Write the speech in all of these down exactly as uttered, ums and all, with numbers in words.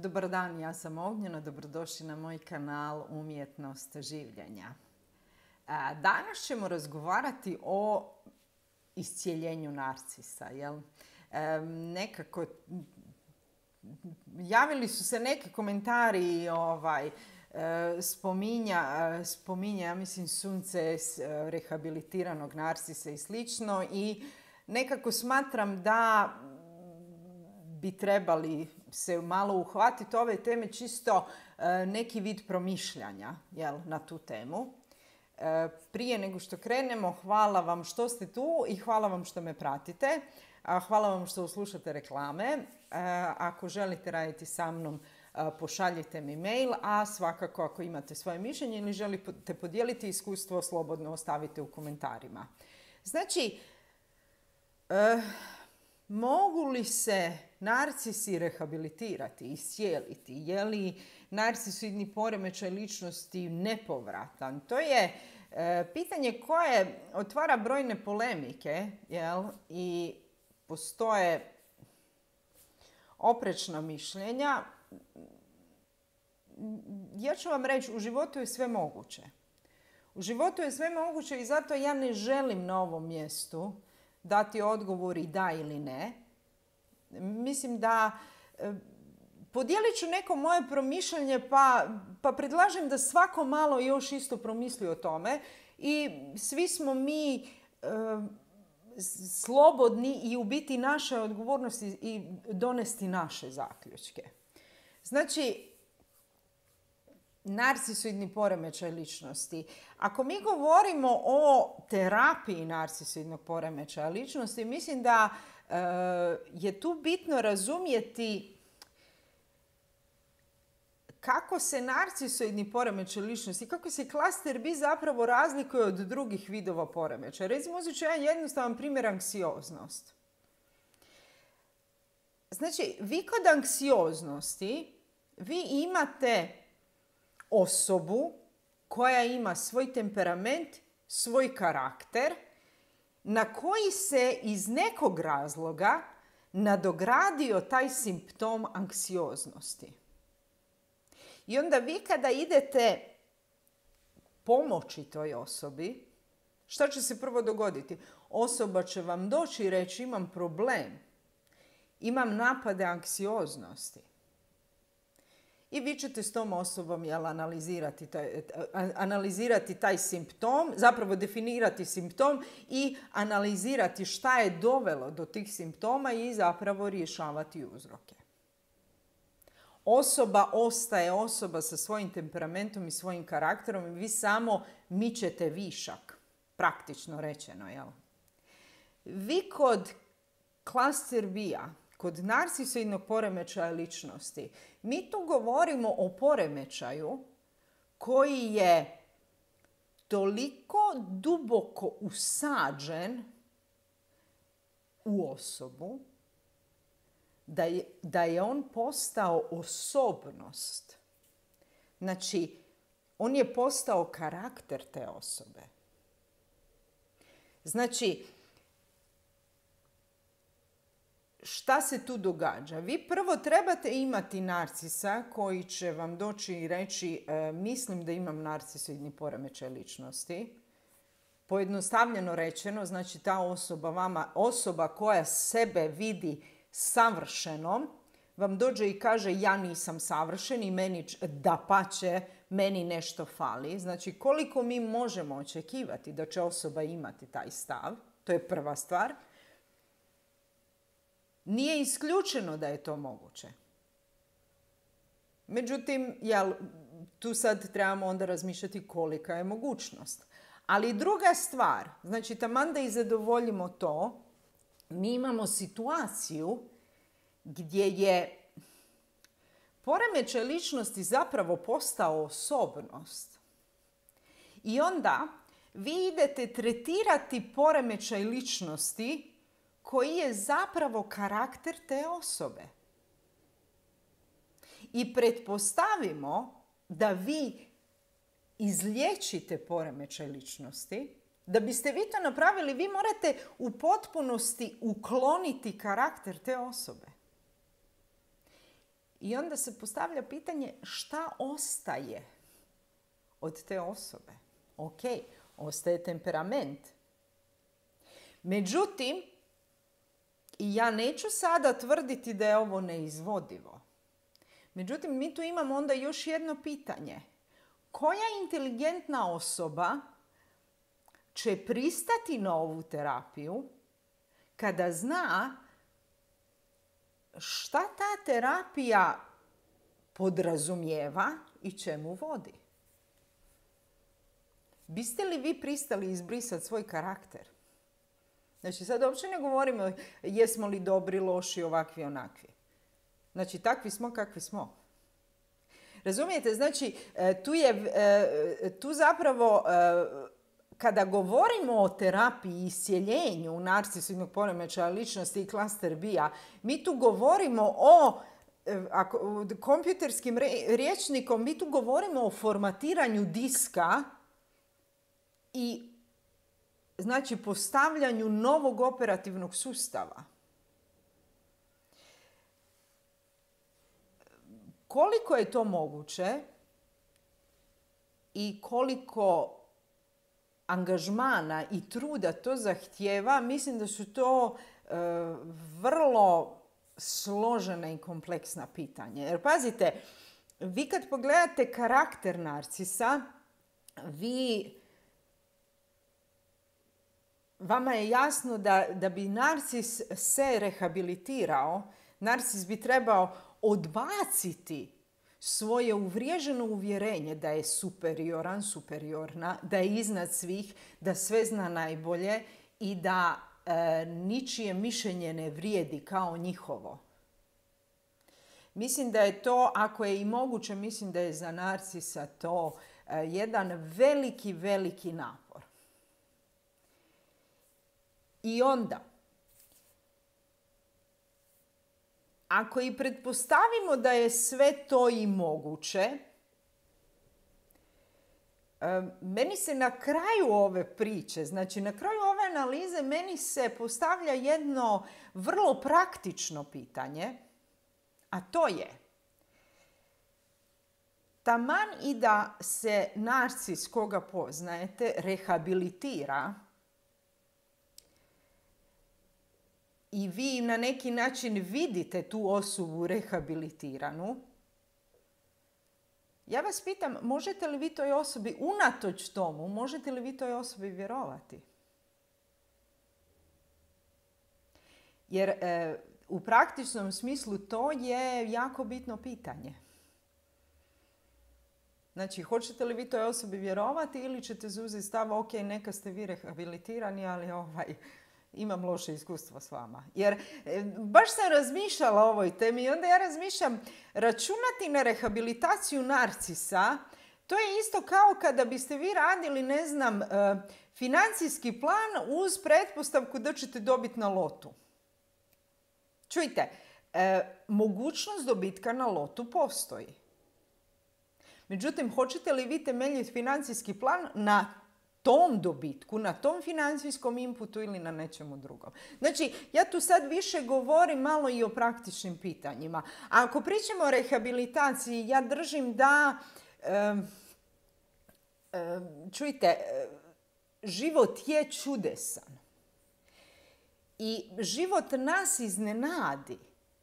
Dobar dan, ja sam Ognjena, dobrodošli na moj kanal Umjetnost življenja. Danas ćemo razgovarati o iscijeljenju narcisa. Jel? Nekako, javili su se neki komentari, ovaj, spominja, spominja, ja mislim, sunce rehabilitiranog narcisa i slično, i nekako smatram da bi trebali se malo uhvatiti ove teme, čisto neki vid promišljanja, jel, na tu temu. Prije nego što krenemo, hvala vam što ste tu i hvala vam što me pratite. Hvala vam što slušate reklame. Ako želite raditi sa mnom, pošaljite mi mail, a svakako ako imate svoje mišljenje ili želite podijeliti iskustvo, slobodno ostavite u komentarima. Znači, eh, mogu li se narcisi rehabilitirati, iscijeliti? Je li narcisoidni poremećaj ličnosti nepovratan? To je e, pitanje koje otvara brojne polemike, jel? I postoje oprečna mišljenja. Ja ću vam reći, u životu je sve moguće. U životu je sve moguće i zato ja ne želim na ovom mjestu dati odgovor i da ili ne. Mislim da e, podijelit ću neko moje promišljanje, pa, pa predlažem da svako malo još isto promisli o tome i svi smo mi e, slobodni i u biti naše odgovornosti i donesti naše zaključke. Znači, narcisoidni poremećaj ličnosti. Ako mi govorimo o terapiji narcisoidnog poremećaja ličnosti, mislim da e, je tu bitno razumjeti kako se narcisoidni poremećaj ličnosti, kako se klaster B zapravo razlikuje od drugih vidova poremećaja. Recimo, uzet ću jedan jednostavan primjer, anksioznost. Znači, vi kod anksioznosti, vi imate osobu koja ima svoj temperament, svoj karakter, na koji se iz nekog razloga nadogradio taj simptom anksioznosti. I onda vi kada idete pomoći toj osobi, šta će se prvo dogoditi? Osoba će vam doći i reći: imam problem, imam napade anksioznosti. I vi ćete s tom osobom, jel, analizirati, taj, analizirati taj simptom, zapravo definirati simptom i analizirati šta je dovelo do tih simptoma i zapravo rješavati uzroke. Osoba ostaje osoba sa svojim temperamentom i svojim karakterom i vi samo mičete višak, praktično rečeno. Jel? Vi kod klaster B-a, kod narcisoidnog poremećaja ličnosti, mi tu govorimo o poremećaju koji je toliko duboko usađen u osobu da je, da je on postao osobnost. Znači, on je postao karakter te osobe. Znači, šta se tu događa? Vi prvo trebate imati narcisa koji će vam doći i reći: e, mislim da imam narcisoidni poremećaj ličnosti. Pojednostavljeno rečeno, znači ta osoba vama, osoba koja sebe vidi savršenom, vam dođe i kaže: ja nisam savršen i meni dapače, meni nešto fali. Znači, koliko mi možemo očekivati da će osoba imati taj stav? To je prva stvar. Nije isključeno da je to moguće. Međutim, jel, tu sad trebamo onda razmišljati kolika je mogućnost. Ali druga stvar, znači taman da i zadovoljimo to, mi imamo situaciju gdje je poremećaj ličnosti zapravo postao osobnost. I onda vi idete tretirati poremećaj ličnosti koji je zapravo karakter te osobe. I pretpostavimo da vi izliječite poremećaj ličnosti. Da biste vi to napravili, vi morate u potpunosti ukloniti karakter te osobe. I onda se postavlja pitanje šta ostaje od te osobe. Ok, ostaje temperament. Međutim, ja neću sada tvrditi da je ovo neizvodivo. Međutim, mi tu imamo onda još jedno pitanje. Koja inteligentna osoba će pristati na ovu terapiju kada zna šta ta terapija podrazumijeva i čemu vodi? Biste li vi pristali izbrisati svoj karakter? Znači, sad uopće ne govorimo jesmo li dobri, loši, ovakvi, onakvi. Znači, takvi smo kakvi smo. Razumijete? Znači, tu je, tu zapravo, kada govorimo o terapiji i iscjeljenju narcisivnog poremećaja ličnosti i klaster B-a, mi tu govorimo o, ako, kompjuterskim rječnikom, mi tu govorimo o formatiranju diska i znači postavljanju novog operativnog sustava. Koliko je to moguće i koliko angažmana i truda to zahtijeva, mislim da su to e, vrlo složena i kompleksna pitanja. Jer pazite, vi kad pogledate karakter narcisa, vi, vama je jasno da, da bi narcis se rehabilitirao, narcis bi trebao odbaciti svoje uvriježeno uvjerenje da je superioran, superiorna, da je iznad svih, da sve zna najbolje i da e, ničije mišljenje ne vrijedi kao njihovo. Mislim da je to, ako je i moguće, mislim da je za narcisa to e, jedan veliki, veliki napor. I onda, ako i pretpostavimo da je sve to i moguće, meni se na kraju ove priče, znači na kraju ove analize, meni se postavlja jedno vrlo praktično pitanje, a to je, taman i da se narcis koga poznajete rehabilitira, i vi na neki način vidite tu osobu rehabilitiranu, ja vas pitam, možete li vi toj osobi, unatoč tomu, možete li vi toj osobi vjerovati? Jer e, u praktičnom smislu to je jako bitno pitanje. Znači, hoćete li vi toj osobi vjerovati ili ćete zauzeti stav, ok, neka ste vi rehabilitirani, ali ovaj... imam loše iskustvo s vama. Jer e, baš sam razmišljala o ovoj temi i onda ja razmišljam, računati na rehabilitaciju narcisa, to je isto kao kada biste vi radili, ne znam, e, financijski plan uz pretpostavku da ćete dobiti na lotu. Čujte, e, mogućnost dobitka na lotu postoji. Međutim, hoćete li vi temeljiti financijski plan na tom dobitku, na tom financijskom inputu ili na nečemu drugom? Znači, ja tu sad više govorim malo i o praktičnim pitanjima. A ako pričamo o rehabilitaciji, ja držim da, um, um, čujte, život je čudesan. I život nas iznenadi,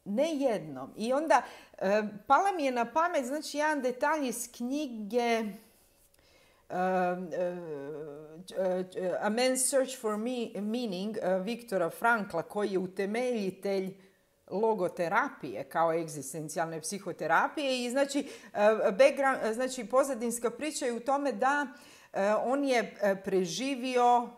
ne jednom. I onda, um, pala mi je na pamet, znači, jedan detalj iz knjige Uh, uh, uh, A Man's Search for me, Meaning uh, Viktora Frankla, koji je utemeljitelj logoterapije kao egzistencijalne psihoterapije. I znači, uh, background, uh, znači pozadinska priča je u tome da uh, on je uh, preživio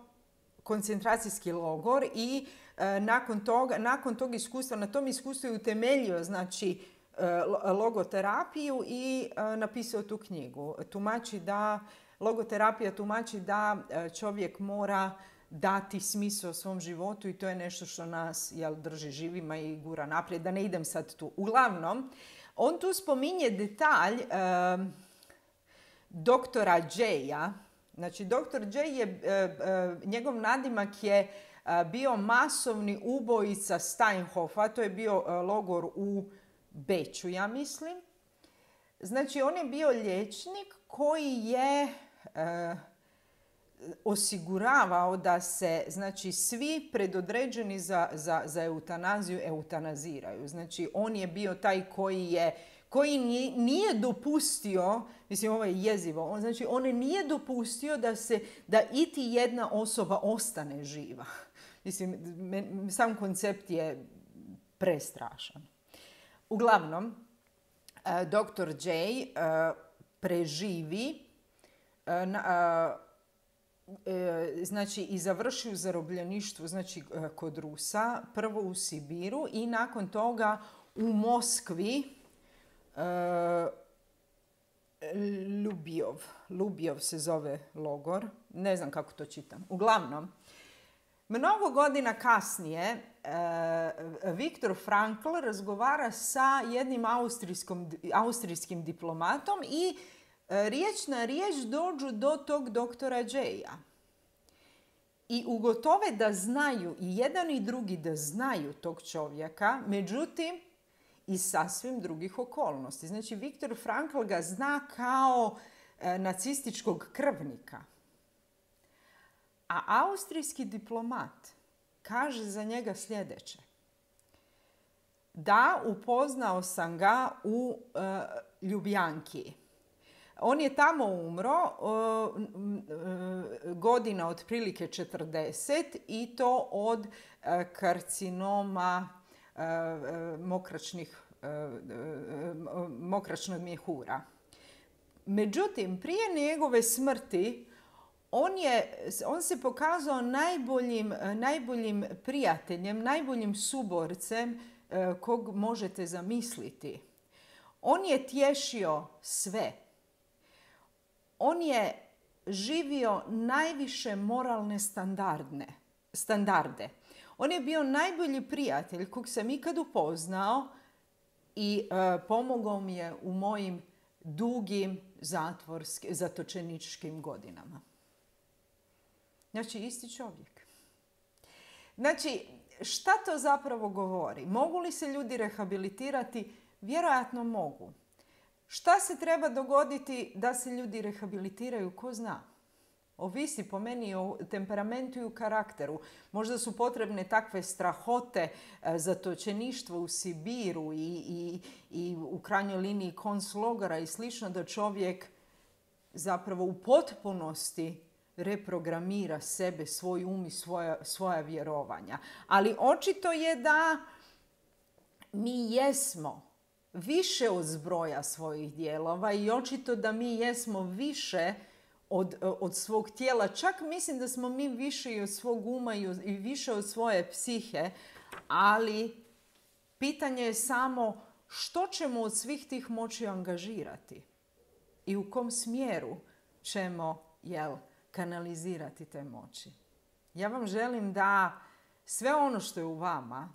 koncentracijski logor i uh, nakon toga, nakon tog iskustva, na tom iskustvu je utemeljio znači uh, logoterapiju i uh, napisao tu knjigu. Tumači da Logoterapija tumači da čovjek mora dati smisao svom životu i to je nešto što nas jel, drži živima i gura naprijed. Da ne idem sad tu. Uglavnom, on tu spominje detalj e, doktora J-a. Znači, doktor J je, e, e, njegov nadimak je e, bio masovni ubojica Steinhofa. To je bio e, logor u Beču, ja mislim. Znači, on je bio liječnik koji je e, osiguravao da se, znači, svi predodređeni za, za, za eutanaziju eutanaziraju. Znači, on je bio taj koji je koji nije, nije dopustio, mislim ovo je jezivo, on, znači on nije dopustio da se, da iti jedna osoba ostane živa. Mislim, sam koncept je prestrašan. Uglavnom, doktor J preživi, znači i završi u zarobljeništvu, znači kod Rusa, prvo u Sibiru i nakon toga u Moskvi, Ljubijov. Ljubijov se zove logor. Ne znam kako to čitam. Uglavnom, mnogo godina kasnije Viktor Frankl razgovara sa jednim austrijskim diplomatom i riječ na riječ dođu do tog doktora J-a. I ugotove da znaju, i jedan i drugi da znaju tog čovjeka, međutim, iz sasvim drugih okolnosti. Znači, Viktor Frankl ga zna kao e, nacističkog krvnika. A austrijski diplomat kaže za njega sljedeće. Da, upoznao sam ga u e, Ljubljanki. On je tamo umro e, e, godina otprilike četrdeset i to od e, karcinoma Mokračnih, mokračnog mjehura. Međutim, prije njegove smrti on, je, on se pokazao najboljim, najboljim prijateljem, najboljim suborcem kog možete zamisliti. On je tješio sve. On je živio najviše moralne standardne, standarde. On je bio najbolji prijatelj kog sam ikad upoznao i e, pomogao mi je u mojim dugim zatvorskim, zatočeničkim godinama. Znači, isti čovjek. Znači, šta to zapravo govori? Mogu li se ljudi rehabilitirati? Vjerojatno mogu. Šta se treba dogoditi da se ljudi rehabilitiraju? Ko zna? Ovisi po meni o temperamentu i o karakteru. Možda su potrebne takve strahote, zatočeništvo u Sibiru i, i, i u krajnjoj liniji konclogora i slično, da čovjek zapravo u potpunosti reprogramira sebe, svoj um i svoja, svoja vjerovanja. Ali očito je da mi jesmo više od zbroja svojih dijelova i očito da mi jesmo više Od, od svog tijela. Čak mislim da smo mi više i od svog uma i, od, i više od svoje psihe, ali pitanje je samo što ćemo od svih tih moći angažirati i u kom smjeru ćemo, jel, kanalizirati te moći. Ja vam želim da sve ono što je u vama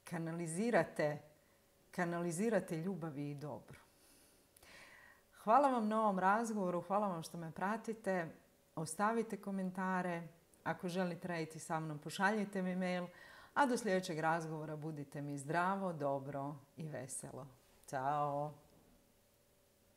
kanalizirate, kanalizirate ljubavi i dobro. Hvala vam na ovom razgovoru, hvala vam što me pratite. Ostavite komentare. Ako želite raditi sa mnom, pošaljite mi mail. A do sljedećeg razgovora budite mi zdravo, dobro i veselo. Ćao!